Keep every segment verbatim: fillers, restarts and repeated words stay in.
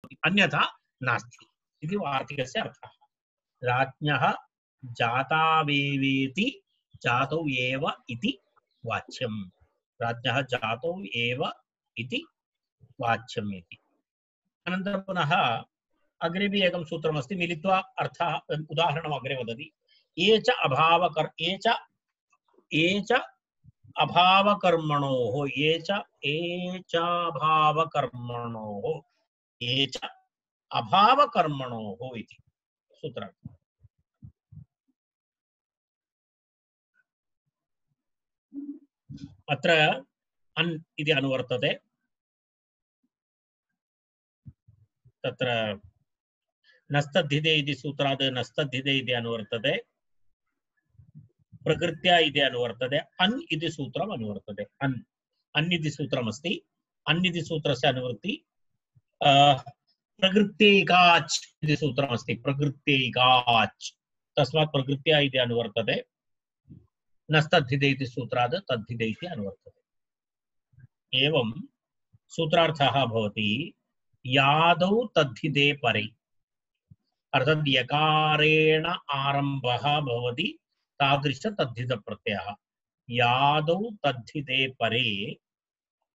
अन्यथा नास्ति इति वार्तिकस्य अर्थः। राज्ञः जातावेवेति जातौ एव इति वाच्यम्। राज्ञः जातौ एव इति वाच्यम् इति। अनन्तरं पुनः अग्रेपि एकं सूत्रमस्ति, मिलित्वा अर्थः उदाहरणम् अग्रे वदति। ये च अभावकर् ये च ये च अभावकर्मणोः ये च ये च अभावकर्मणोः ये च अभावकर्मणोः इति सूत्रम्। अत्र अन् इति अनुवर्तते। तत्र नस्तद्धिते इति सूत्रात् नस्तद्धिते इति अनुवर्तते, प्रकृत्या इति अनुवर्तते, अन् इति सूत्रम् अनुवर्तते। अन् अन् इति सूत्रमस्ति। अन् इति सूत्रस्य अनुवृत्ति प्रकृत्यैकाच् इति सूत्रमस्ति। प्रकृत्यैकाच्, तस्मात् प्रकृत्या इति अनुवर्तते। नस्तद्धिते इति सूत्रात् तद्धिते इति अनुवर्तते। एवं सूत्रार्थः भवति यादौ तद्धिते परे, अर्थात् यकारेण आरम्भः भवति तादृश तद्धित प्रत्ययः। यादौ तद्धिते परे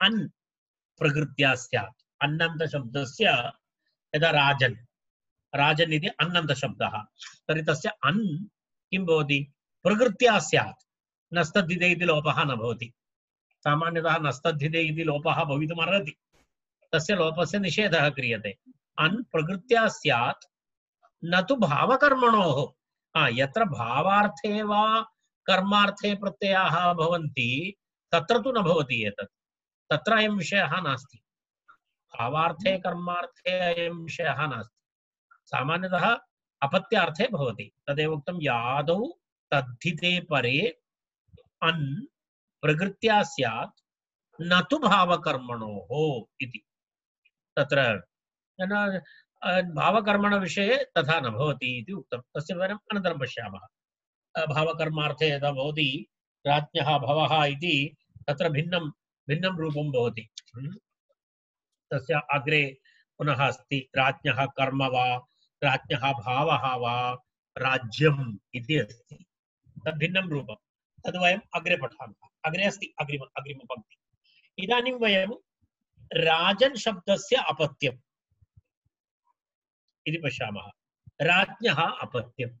अन् प्रकृत्या स्यात्। अन्नन्त शब्दस्य यदा राजन् राजन् इति अन्नन्त शब्दः, तर्हि तस्य अन् किं भवति? प्रकृत्या स्यात्। नस्तद्धिते इति लोपः न भवति। सामान्यतः नस्तद्धिते इति लोपः भवितुम् अर्हति, तस्य लोपस्य निषेधः क्रियते। अन् प्रकृत्या स्यात्, न तु भावकर्मणोः। यत्र भावार्थे वा कर्मार्थे प्रत्ययाः भवन्ति तत्र तु न भवति एतत्, तत्र अयं विषयः नास्ति। भावार्थे कर्मार्थे अयं विषयः नास्ति। सामान्यतः अपत्यार्थे भवति। तदेव उक्तं यादौ तद्धिते परे अन् प्रकृत्या स्यात् न तु भावकर्मणोः इति। तत्र भावकर्मण विषये तथा न भवति इति उक्तं। तस्य विवरणम् अनन्तरं पश्यामः। भावकर्मार्थे यदा भवति राज्ञः भवः इति, तत्र भिन्नं भिन्नं रूपं भवति। तस्य अग्रे पुनः अस्ति राज्ञः कर्म वा राज्ञः भावः वा राज्यम् इति अस्ति। तद् भिन्नं रूपं, तद् वयम् अग्रे पठामः। अग्रे अस्ति अग्रिम अग्रिमपङ्क्ति। इदानीं वयं राजन् शब्दस्य अपत्यम् इति पश्यामः। राज्ञः अपत्यम्।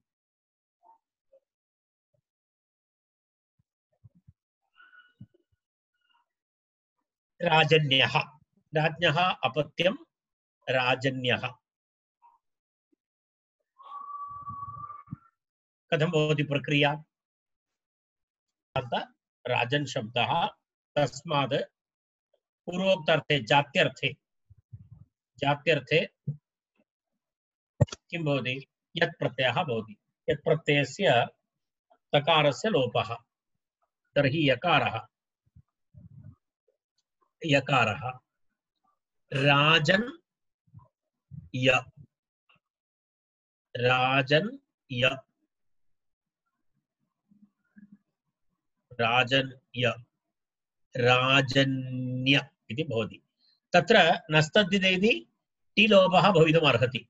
राजन्यः, राज्ञः अपत्यं राजन्यः। कथं भवति प्रक्रिया? राजन् शब्दः तस्मात् पूर्वोक्तार्थे जात्यर्थे जात्यर्थे किं भवति? यत् प्रत्ययः भवति। यत् प्रत्ययस्य तकारस्य लोपः, तर्हि यकारः यकारः राजन् य राजन् य राजन् य राजन्य इति भवति। तत्र नस्तद्धिते इति टी लोपः भवितुम् अर्हति।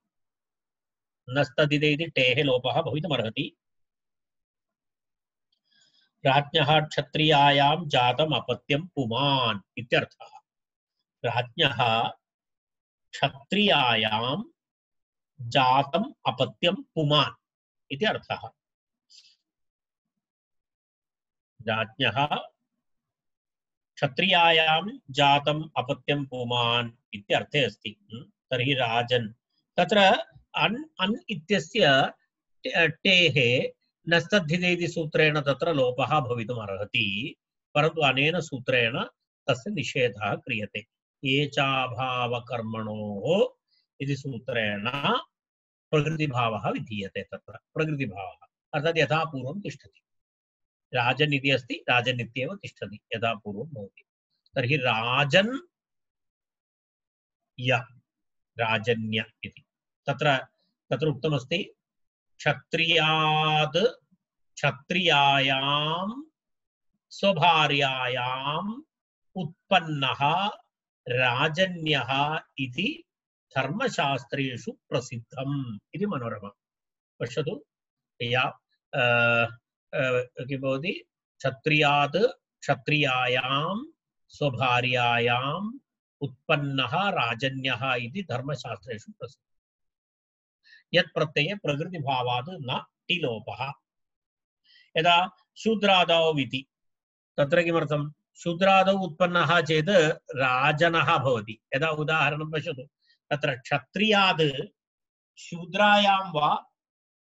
नस्तद्धिते इति टेः लोपः भवितुम् अर्हति। राज्ञः क्षत्रियायां जातम् अपत्यं पुमान् इत्यर्थः। राज्ञः क्षत्रियायां जातम् अपत्यं पुमान् इति अर्थः। राज्ञः क्षत्रियायां जातम् अपत्यं पुमान् इत्यर्थे अस्ति। तर्हि राजन्, तत्र अन् अन् इत्यस्य टेः नस्तद्धिते इति सूत्रेण तत्र लोपः भवितुम् अर्हति, परन्तु अनेन सूत्रेण तस्य निषेधः क्रियते। ये चाभावकर्मणोः इति सूत्रेण प्रकृतिभावः विधीयते। तत्र प्रकृतिभावः अर्थात् यथा पूर्वं तिष्ठति। राजन् इति अस्ति, राजन् इत्येव तिष्ठति, यथा पूर्वं भवति। तर्हि राजन् य राजन्य इति तत्र तत्र उक्तमस्ति। क्षत्रियाद् क्षत्रियायां स्वभार्यायाम् उत्पन्नः राजन्यः इति धर्मशास्त्रेषु प्रसिद्धम् इति मनोरमा पश्यतु या किं भवति क्षत्रियात् क्षत्रियायां स्वभार्यायाम् उत्पन्नः राजन्यः इति धर्मशास्त्रेषु प्रसिद्धः यत् प्रत्यये प्रकृतिभावात् न टिलोपः यदा शूद्रादौ इति तत्र किमर्थं शूद्रादौ उत्पन्नः चेत् राजनः भवति यदा उदाहरणं पश्यतु तत्र क्षत्रियात् शूद्रायां वा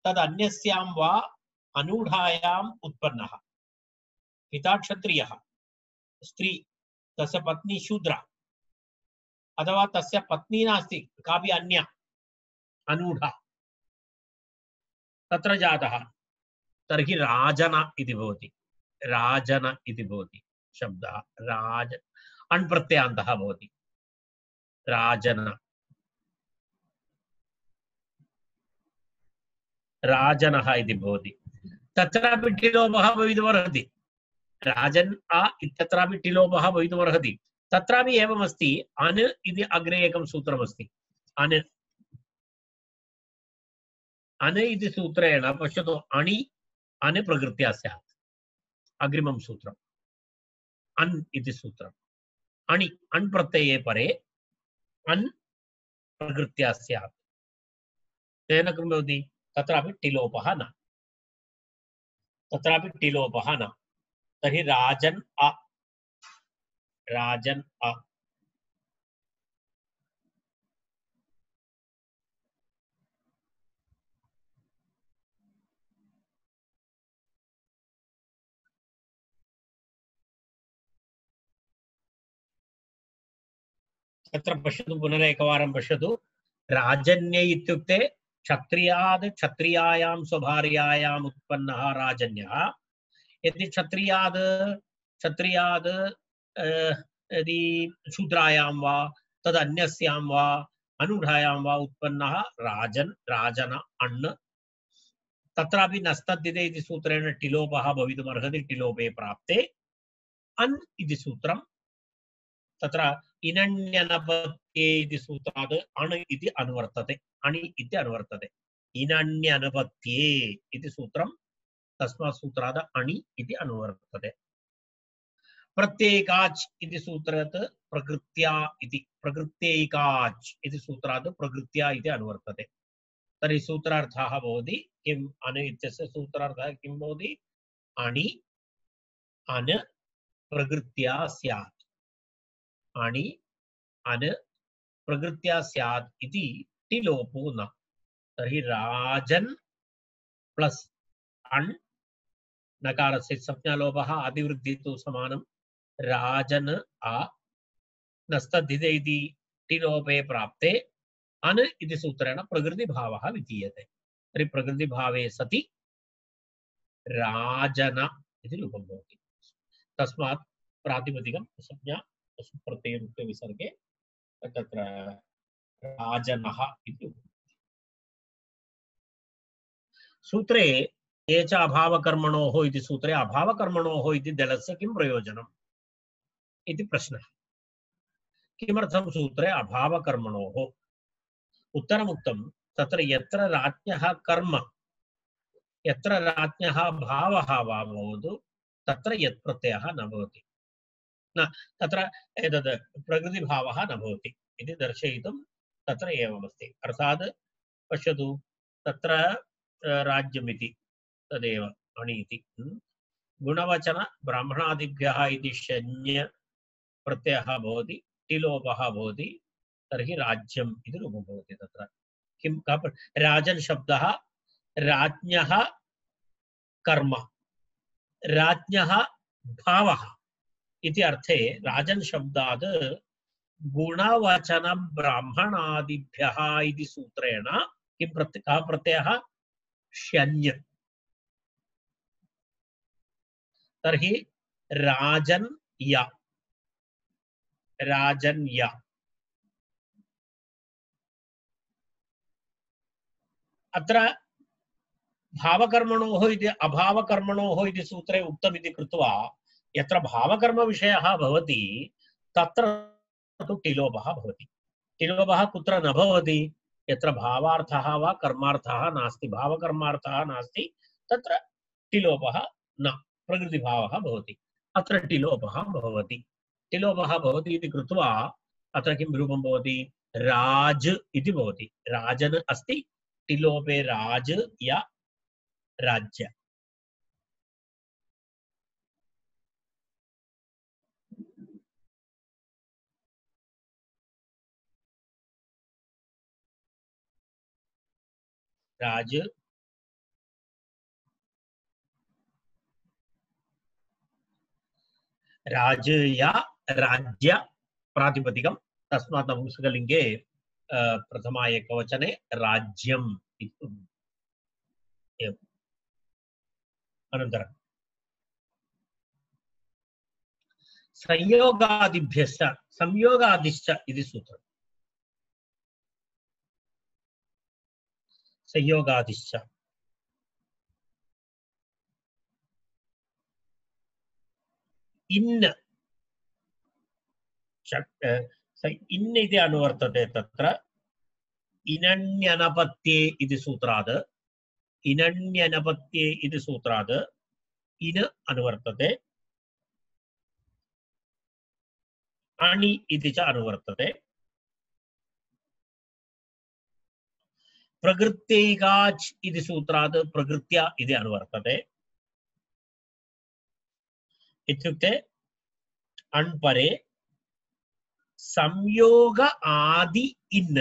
तदन्यस्यां वा अनूढायाम् उत्पन्नः पिता क्षत्रियः स्त्री तस्य पत्नी शूद्रा अथवा तस्य पत्नी नास्ति कापि अन्या अनूढा तत्र जातः तर्हि राजन इति भवति राजन इति भवति शब्दः राज अण् प्रत्ययान्तः भवति राजन राजनः इति भवति तत्रापि टिलोपः भवितुमर्हति राजन् आ इत्यत्रापि टिलोपः भवितुमर्हति तत्रापि एवमस्ति अन् इति अग्रे एकं सूत्रमस्ति अन् अन् इति सूत्रेण पश्यतु अणि अन् प्रकृत्या स्यात् अग्रिमं सूत्रम् अन् इति सूत्रम् अणि अण् प्रत्यये परे अन् प्रकृत्या स्यात् तेन किं भवति तत्रापि टिलोपः न तत्रापि टिलोपः न तर्हि राजन् अ राजन् अ तत्र पश्यतु पुनरेकवारं पश्यतु राजन्य इत्युक्ते क्षत्रियाद् क्षत्रियायां स्वभार्यायाम् उत्पन्नः राजन्यः यदि क्षत्रियाद् क्षत्रियाद् यदि शूद्रायां वा तदन्यस्यां वा अनूढायां वा उत्पन्नः राजन् राजन अण् तत्रापि नस्तद्धिते इति सूत्रेण टिलोपः भवितुमर्हति टिलोपे प्राप्ते अन् इति सूत्रं तत्र इनण्यनपत्ये इति सूत्रात् अण् इति अनुवर्तते अणि इति अनुवर्तते इनण्यनपत्ये इति सूत्रं तस्मात् सूत्रात् अणि इति अनुवर्तते प्रत्येकाच् इति सूत्रात् प्रकृत्या इति प्रकृत्यैकाच् इति सूत्रात् प्रकृत्या इति अनुवर्तते तर्हि सूत्रार्थः भवति किम् अन् इत्यस्य सूत्रार्थः किं भवति अणि अन् प्रकृत्या स्यात् अणि अन् प्रकृत्या स्यात् इति टिलोपो न तर्हि राजन् प्लस अण् नकारस्य संज्ञालोपः अतिवृद्धि तु समानं राजन् आ नस्तद्धिते इति टिलोपे प्राप्ते अन् इति सूत्रेण प्रकृतिभावः विधीयते तर्हि प्रकृतिभावे सति राजन इति रूपं भवति तस्मात् प्रातिपदिकं संज्ञा प्रत्ययमुक्ते विसर्गे तत्र राजनः इति सूत्रे ये च अभावकर्मणोः इति सूत्रे अभावकर्मणोः इति दलस्य किं प्रयोजनम् इति प्रश्नः किमर्थं सूत्रे अभावकर्मणोः उत्तरमुक्तं तत्र यत्र राज्ञः कर्म यत्र राज्ञः भावः वा भवतु तत्र यत् प्रत्ययः न भवति न तत्र एतद् प्रकृतिभावः न भवति इति दर्शयितुं तत्र एवमस्ति अर्थात् पश्यतु तत्र राज्यमिति तदेव अणि इति गुणवचन ब्राह्मणादिभ्यः इति शन्य प्रत्ययः भवति टिलोपः भवति तर्हि राज्यम् इति रूपं भवति तत्र किं राजन् शब्दः राज्ञः कर्म राज्ञः भावः इति अर्थे राजन् शब्दात् गुणवचन ब्राह्मणादिभ्यः इति सूत्रेण किं प्रत्यय कः प्रत्ययः शन्य तर्हि राजन् य राजन् य अत्र भावकर्मणोः इति अभावकर्मणोः इति सूत्रे उक्तमिति कृत्वा यत्र भावकर्म विषयः भवति तत्र तु टिलोपः भवति टिलोपः कुत्र न भवति यत्र भावार्थः वा कर्मार्थः नास्ति भावकर्मार्थः नास्ति तत्र टिलोपः न प्रकृतिभावः भवति अत्र टिलोपः भवति टिलोपः भवति इति कृत्वा अत्र किं रूपं भवति राज इति भवति राजन् अस्ति टिलोपे राज या राज्य राज राज या राज्य प्रातिपदिकं तस्मात् नपुंसकलिङ्गे प्रथमा एकवचने राज्यम् इति एवम् अनन्तरं संयोगादिभ्यश्च संयोगादिश्च इति सूत्रम् संयोगादिश्च इन् इन् इति अनुवर्तते तत्र इनण्यनपत्ये इति सूत्रात् इनण्यनपत्ये इति सूत्रात् इन् अनुवर्तते अणि इति च अनुवर्तते प्रकृत्यैकाच् इति सूत्रात् प्रकृत्या इति अनुवर्तते इत्युक्ते अण्परे संयोग आदि इन्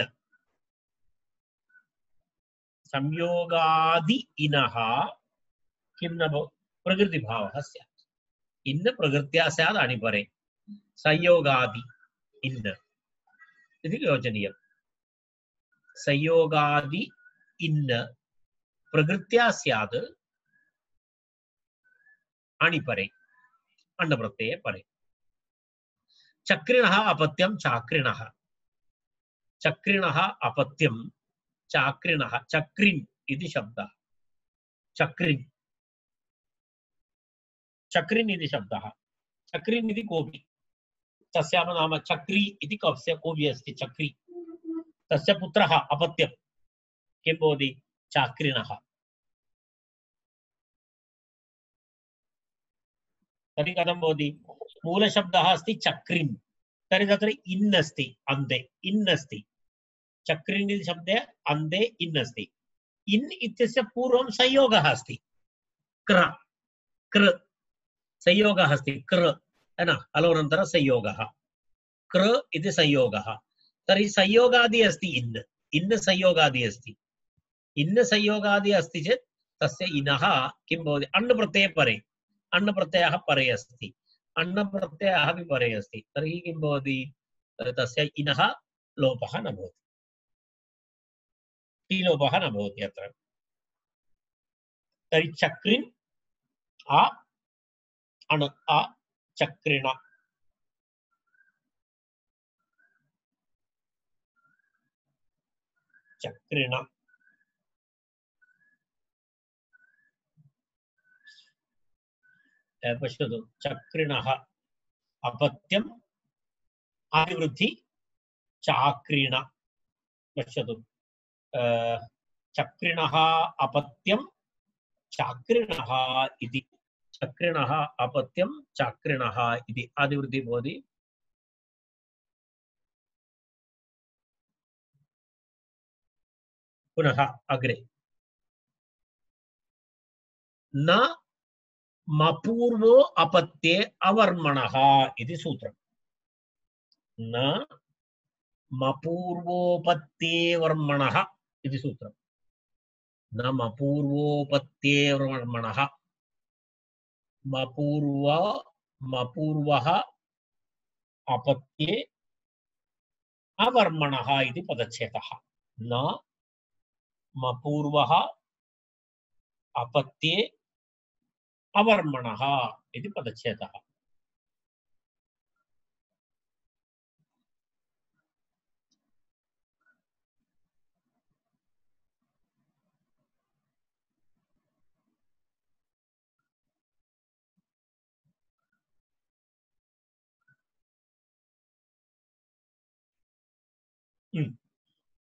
संयोगादि इनः किं न प्रकृतिभावः स्यात् इन् प्रकृत्या स्यात् अणिपरे संयोगादि इन् इति योजनीयम् संयोगादि इन् प्रकृत्या स्यात् अणिपरे अण्डप्रत्यये परे चक्रिणः अपत्यं चाक्रिणः चक्रिणः अपत्यं चाक्रिणः चक्रिन् इति शब्दः चक्रिन् चक्रिन् इति शब्दः चक्रिन् इति कोपि तस्याः नाम चक्री इति कस्य कोपि अस्ति चक्री तस्य पुत्रः अपत्यं किं भवति चाक्रिणः तर्हि कथं भवति मूलशब्दः अस्ति चक्रिन् तर्हि तत्र इन् अस्ति अन्ते इन् अस्ति चक्रिन् इति शब्दे अन्ते इन् अस्ति इन् इत्यस्य पूर्वं संयोगः अस्ति क्र कृ संयोगः अस्ति कृ है न अलोनन्तरं संयोगः कृ इति संयोगः तर्हि संयोगादि अस्ति इन् इन् संयोगादि अस्ति इन् संयोगादि अस्ति चेत् तस्य इनः किं भवति अण् प्रत्यये परे अण् प्रत्ययः परे अस्ति अण् प्रत्ययः अपि परे अस्ति तर्हि किं भवति तस्य इनः लोपः न भवति टीलोपः न भवति अत्र तर्हि चक्रिन् आ अण् आ चक्रिण चक्रिण पश्यतु चक्रिणः अपत्यम् अभिवृद्धि चाक्रिण पश्यतु चक्रिणः अपत्यं चाक्रिणः इति चक्रिणः अपत्यं चाक्रिणः इति आदिवृद्धि भवति पुनः अग्रे न मपूर्वो अपत्ये अवर्मणः इति सूत्रम् न मपूर्वोपत्ये वर्मणः इति सूत्रम् न मपूर्वोपत्ये वर्मणः मपूर्व मपूर्वः अपत्ये अवर्मणः इति पदच्छेदः न मपूर्वः अपत्ये अवर्मणः इति पदच्छेदः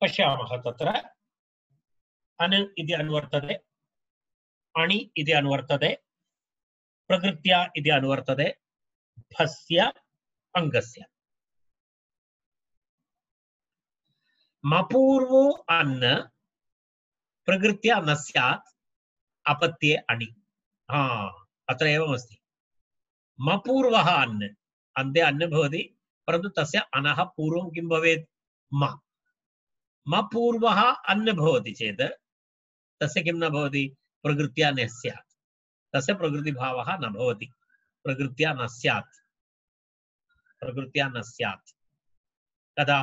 पश्यामः तत्र अन् इति अनुवर्तते, अणि इति अनुवर्तते, प्रकृत्या इति अनुवर्तते, भस्य अङ्गस्य। मपूर्वो अन् प्रकृत्या न स्यात् अपत्ये अणि। हा अत्र एवमस्ति। मपूर्वः अन्, अन्ते अन् भवति, परन्तु तस्य अनः पूर्वं किं भवेत्? म। मपूर्वः अन् भवति चेत् तस्य किं न भवति? प्रकृत्या न स्यात्, तस्य प्रकृतिभावः न भवति। प्रकृत्या न स्यात्, प्रकृत्या न स्यात्। कदा?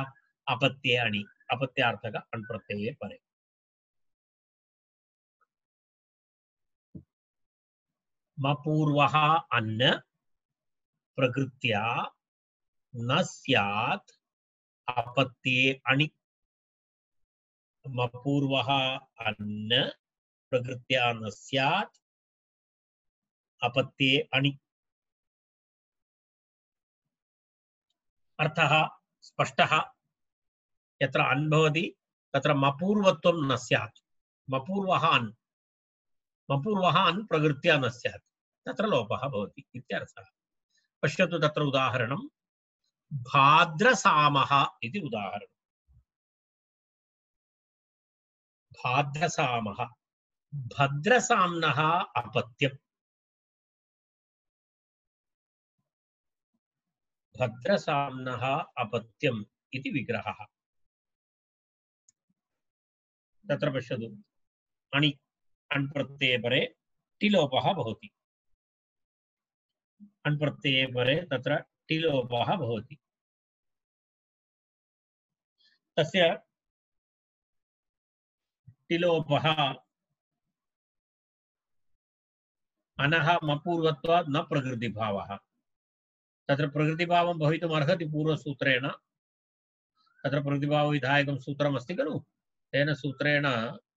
अपत्ये अणि, अपत्यार्थक अण् प्रत्यये परे। मपूर्वः अन् प्रकृत्या न स्यात् अपत्ये अणि। मपूर्वः अन् प्रकृत्या न स्यात् अपत्ये अणि। अर्थः स्पष्टः। यत्र अन् भवति तत्र मपूर्वत्वं न स्यात्। मपूर्वः अन्, मपूर्वः अन् प्रकृत्या न स्यात्, तत्र लोपः भवति इत्यर्थः। पश्यतु तत्र उदाहरणं भाद्रसामः इति उदाहरणं। भाद्रसामः, भद्रसाम्नः अपत्यम्, भद्रसाम्नः अपत्यम् इति विग्रहः। तत्र पश्यतु अणि, अण् प्रत्यये परे टिलोपः भवति। अण् प्रत्यये परे तत्र टिलोपः भवति। तस्य टिलोपः अनः मपूर्वत्वात् न प्रकृतिभावः। तत्र प्रकृतिभावं भवितुम् अर्हति पूर्वसूत्रेण। तत्र प्रकृतिभावविधायकं सूत्रमस्ति खलु, तेन सूत्रेण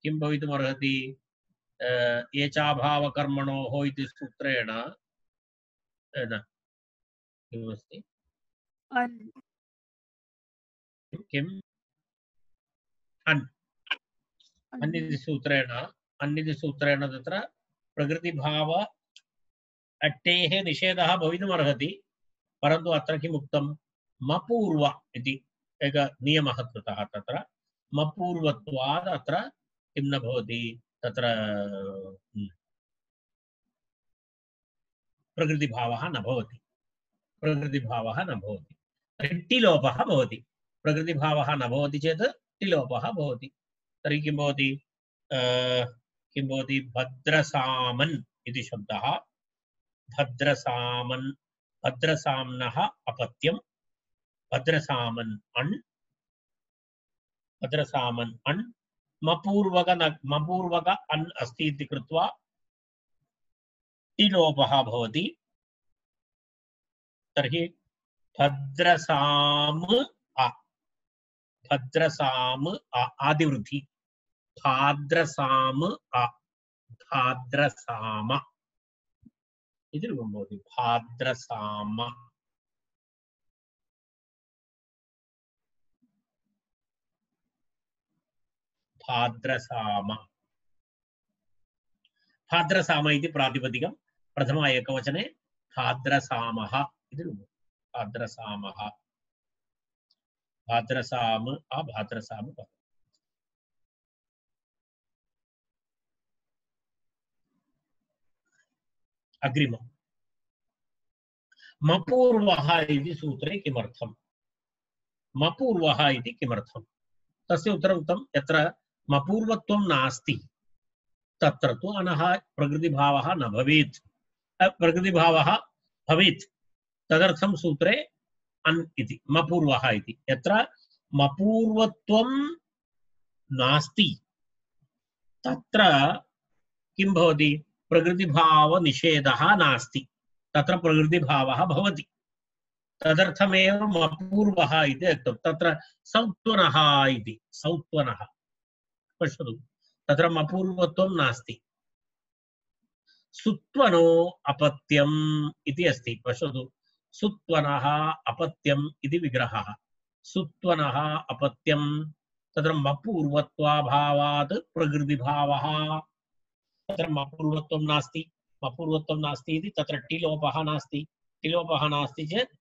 किं भवितुम् अर्हति? एचाभावकर्मणोः इति सूत्रेण न किमस्ति? किम्? अन्। अन् इति सूत्रेण, अन् इति सूत्रेण तत्र प्रकृतिभाव अट्टेः निषेधः भवितुम् अर्हति, परन्तु अत्र किम् उक्तं? मपूर्व इति एकः नियमः कृतः। तत्र मपूर्वत्वात् अत्र किं न भवति? तत्र प्रकृतिभावः न भवति, प्रकृतिभावः न भवति। तर्हि टिलोपः भवति। प्रकृतिभावः न भवति चेत् टिलोपः भवति। तर्हि किं भवति? किं भवति? भद्रसामन् इति शब्दः। भद्रसामन्, भद्रसाम्नः अपत्यं, भद्रसामन् अण्, भद्रसामन् अण्, मपूर्वक न मपूर्वक अन् अस्ति इति कृत्वा टिलोपः भवति। तर्हि भद्रसाम अ, भद्रसाम अ आदिवृद्धि, भाद्रसाम अ, भाद्रसाम इति रूपं भवति। भाद्रसाम, भाद्रसाम, भाद्रसाम इति प्रातिपदिकं, प्रथम एकवचने भाद्रसामः इति रूपं। भाद्रसामः, भाद्रसाम अ भाद्रसाम। अग्रिमं मपूर्वः इति सूत्रे किमर्थं? मपूर्वः इति किमर्थं? तस्य उत्तरम् उक्तं, यत्र मपूर्वत्वं नास्ति तत्र तु अनः प्रकृतिभावः न भवेत्। प्रकृतिभावः भवेत्, तदर्थं सूत्रे अन् इति, मपूर्वः इति। यत्र मपूर्वत्वं नास्ति तत्र किं भवति? प्रकृतिभावनिषेधः नास्ति, तत्र प्रकृतिभावः भवति। तदर्थमेव मपूर्वः इति उक्तं। तत्र सौत्वनः इति, सौत्वनः पश्यतु, तत्र मपूर्वत्वं नास्ति। सुत्वनो अपत्यम् इति अस्ति। पश्यतु, सुत्वनः अपत्यम् इति विग्रहः। सुत्वनः अपत्यं तत्र मपूर्वत्वाभावात् प्रकृतिभावः तत्र मपूर्वत्वं नास्ति मपूर्वत्वं नास्ति इति तत्र टिलोपः नास्ति टिलोपः नास्ति चेत्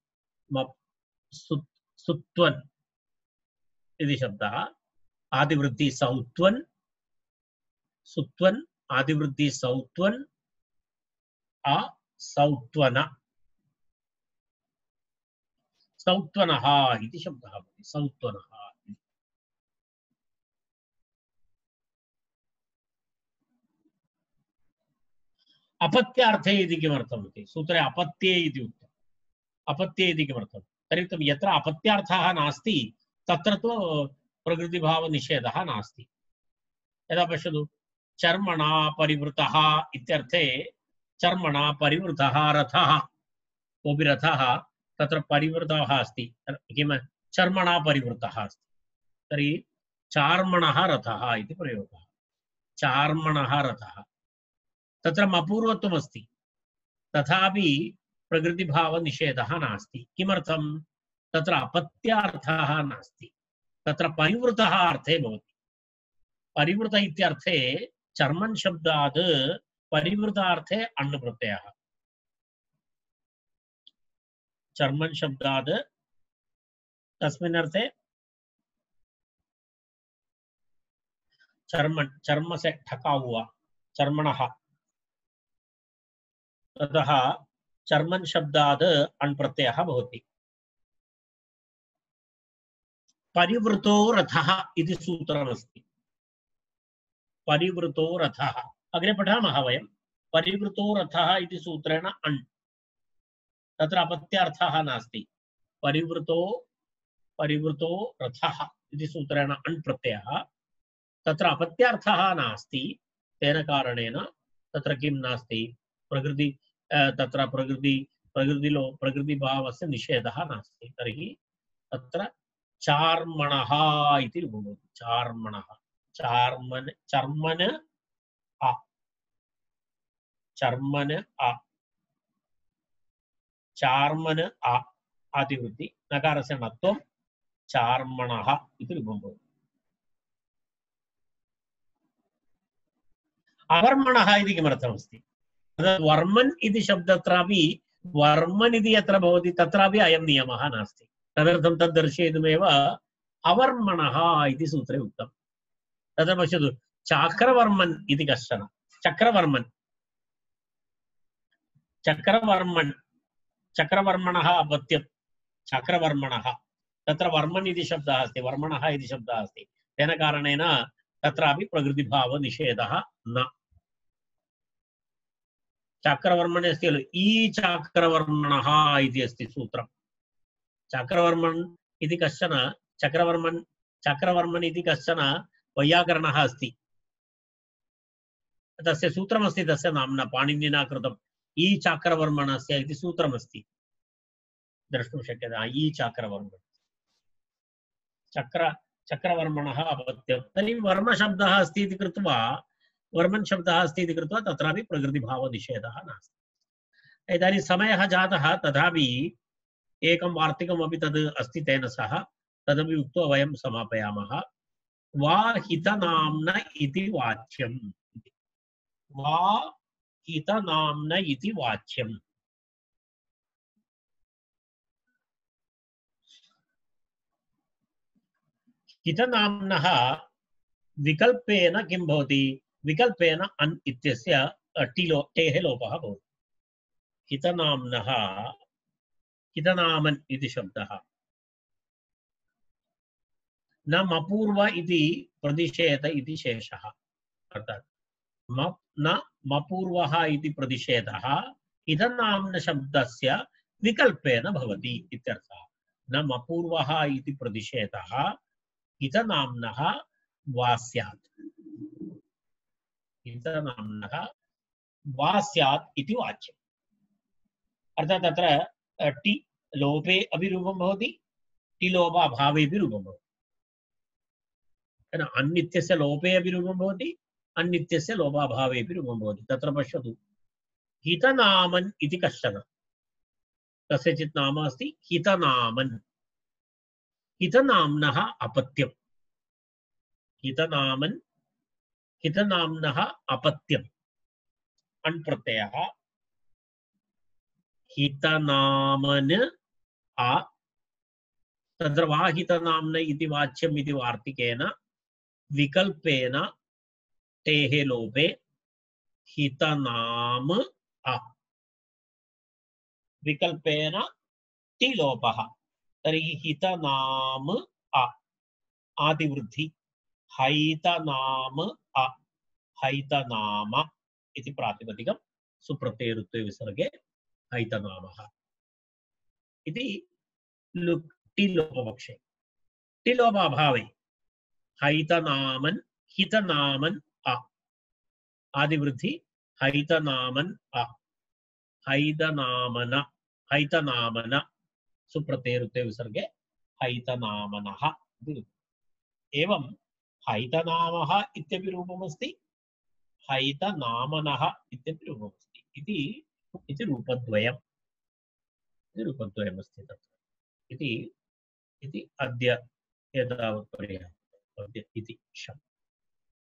मप् सुत् सुत्वन् इति शब्दः आदिवृत्ति सौत्वन् सुत्वन् आदिवृत्ति सौत्वन् आ सौत्वन सौत्वनः इति शब्दः भवति सौत्वनः अपत्यार्थे इति किमर्थम् इति सूत्रे अपत्ये इति उक्तम् अपत्ये इति किमर्थं तर्हि यत्र अपत्यार्थः नास्ति तत्र तु प्रकृतिभावनिषेधः नास्ति यदा पश्यतु चर्मणा परिवृतः इत्यर्थे चर्मणा परिवृतः रथः कोऽपि रथः तत्र परिवृतः अस्ति किं चर्मणा परिवृतः अस्ति तर्हि चार्मणः रथः इति प्रयोगः चार्मणः रथः तत्र मपूर्वत्वमस्ति तथापि प्रकृतिभावनिषेधः नास्ति किमर्थं तत्र अपत्यार्थः नास्ति तत्र परिवृतः अर्थे भवति परिवृत इत्यर्थे चर्मन् शब्दात् परिवृतार्थे अण् प्रत्ययः चर्मन् शब्दात् तस्मिन् अर्थे चर्मन् चर्म से ठका हुआ चर्मणः ततः चर्मन् शब्दात् अण् प्रत्ययः भवति परिवृतो रथः इति सूत्रमस्ति परिवृतो रथः अग्रे पठामः वयं परिवृतो रथः इति सूत्रेण अण् तत्र अपत्यार्थः नास्ति परिवृतो परिवृतो रथः इति सूत्रेण अण् प्रत्ययः तत्र अपत्यार्थः नास्ति तेन कारणेन तत्र किं नास्ति प्रकृति तत्र प्रकृति प्रकृतिलो प्रकृतिभावस्य निषेधः नास्ति तर्हि तत्र चार्मणः इति भवति चार्मणः चार्मन चर्मन अ चर्मन अ चार्मन अ आदिवृत्ति नकारस्य णत्वं चार्मणः इति रूपं भवति अवर्मणः इति किमर्थमस्ति वर्मन् इति शब्दत्रापि वर्मन् इति यत्र भवति तत्रापि अयं नियमः नास्ति तदर्थं तद् दर्शयितुमेव अवर्मणः इति सूत्रे उक्तम् तत्र पश्यतु चाक्रवर्मन् इति कश्चन चक्रवर्मन् चक्रवर्मन् चक्रवर्मणः अपत्यं चक्रवर्मणः तत्र वर्मन् इति शब्दः अस्ति वर्मणः इति शब्दः अस्ति तेन कारणेन तत्रापि प्रकृतिभावनिषेधः न चक्रवर्मणे अस्ति खलु ई चाक्रवर्मणः इति अस्ति सूत्रं चक्रवर्मन् इति कश्चन चक्रवर्मन् चक्रवर्मन् इति कश्चन वैयाकरणः अस्ति तस्य सूत्रमस्ति तस्य नाम्ना पाणिनिना कृतम् ई चाक्रवर्मणस्य इति सूत्रमस्ति द्रष्टुं शक्यते ई चाक्रवर्मण चक्र चक्रवर्मणः अपत्यं तर्हि वर्मशब्दः अस्ति इति कृत्वा वर्मन् शब्दः अस्ति इति कृत्वा तत्रापि प्रकृतिभावनिषेधः नास्ति इदानीं समयः जातः तथापि एकं वार्तिकमपि तद् अस्ति तेन सह तदपि उक्त्वा वयं समापयामः वा हितनाम्न इति वाच्यम् वा हितनाम्न इति वाच्यम् हितनाम्नः विकल्पेन किं भवति विकल्पेन अन् इत्यस्य टिलो टेः लोपः भवति हितनाम्नः हितनामन् इति शब्दः न मपूर्व इति प्रतिषेध इति शेषः अर्थात् म न मपूर्वः इति प्रतिषेधः हितनाम्न शब्दस्य विकल्पेन भवति इत्यर्थः न मपूर्वः इति प्रतिषेधः हितनाम्नः वा स्यात् हितनाम्नः वा स्यात् इति वाच्यम् अर्थात् तत्र टि लोपे अपि रूपं भवति टि लोपाभावेपि रूपं भवति अन्नित्यस्य लोपे अपि रूपं भवति अन्नित्यस्य लोपाभावेपि रूपं भवति तत्र पश्यतु हितनामन् इति कश्चन कस्यचित् नाम अस्ति हितनामन् हितनाम्नः अपत्यम् हितनामन् हितनाम्नः अपत्यम् अण् प्रत्ययः हितनामन् आ तत्र वाहितनाम्न इति वाच्यम् इति वार्तिकेन विकल्पेन तेः लोपे हितनाम अ विकल्पेन ति लोपः तर्हि हितनाम अ आदिवृद्धि हैतनाम अ हैतनाम इति प्रातिपदिकं सुप्रत्ययरुत्वे विसर्गे हैतनामः इति लुक् टिलोपपक्षे टिलोपाभावे हैतनामन् हितनामन् अ आदिवृद्धि हैतनामन् अ हैतनामन हैतनामन सुप्रत्ययरुत्वे विसर्गे हैतनामनः एवं हैतनामः इत्यपि रूपमस्ति हैतनामनः इत्यपि रूपमस्ति इति इति रूपद्वयम् इति रूपद्वयमस्ति तत्र इति इति अद्य एतावत् पर्याप्तम् अद्य इति शम्